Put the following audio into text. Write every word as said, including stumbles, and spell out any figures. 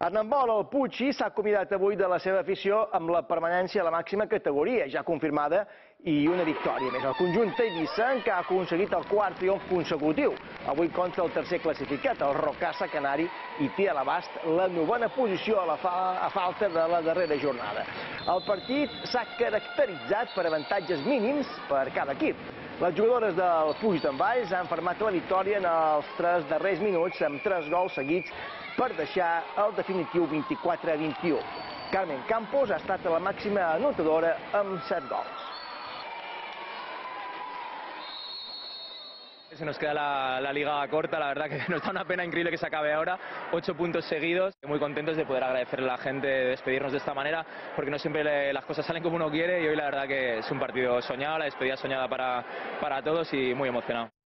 En handbol, el Puig s'ha acomiadat avui de la seva afició amb la permanència a la màxima categoria, ja confirmada, i una victòria més. El conjunt eivissa, que ha aconseguit el quart triomf consecutiu. Avui contra el tercer classificat, el Rocassa Canari, i té a l'abast la novena posició a, la fa a falta de la darrera jornada. El partit s'ha caracteritzat per avantatges mínims per cada equip. Les jugadores del Puig d'en Valls han fermat la victòria en els tres darrers minuts amb tres gols seguits per deixar el definitiu vint-i-quatre a vint-i-u. Carmen Campos ha estat la màxima anotadora amb set gols. Se nos queda la, la liga corta, la verdad que nos da una pena increíble que se acabe ahora, ocho puntos seguidos. Muy contentos de poder agradecerle a la gente, de despedirnos de esta manera, porque no siempre le, las cosas salen como uno quiere y hoy la verdad que es un partido soñado, la despedida soñada para, para todos y muy emocionado.